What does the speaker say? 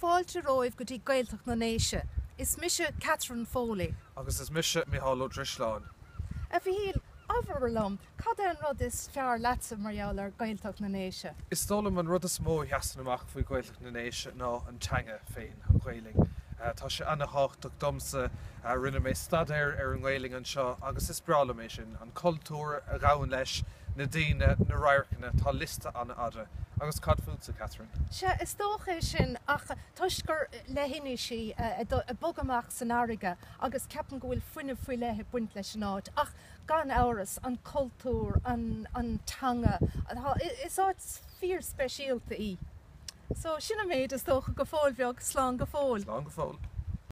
Fáilte romhaibh go dtí Gaeltacht na nDéise. Is mise Catherine Foley. Agus is mise Micheál Ó Drisleáin. A Mhichíl, abair liom, cad é an rud is fearr leatsa mar gheall ar Ghaeltacht na nDéise? Is dóigh liom an rud is mó a sheasann amach faoi Ghaeltacht na nDéise ná an teanga féin, an Ghaelainn. Tá sé ana-thábhachtach domsa. Rinne mé staidéar ar an nGaelainn anseo agus is breá liom é sin, an cultúr a ghabhann leis, na daoine, na radharcanna, tá liosta an-fhada. Agus cad fútsa, Catherine? Sea, is dócha é sin, ach toisc gur leithinis í ag bogadh amach san fharraige agus ceapaim go bhfuil fuinneamh faoi leith ag baint leis an áit. Ach gan amhras, an cultúr, an teanga, is áit fíorspeisialta í. So, sin an méid is dócha go fóill bheag, slán go fóill. Slán go fóill.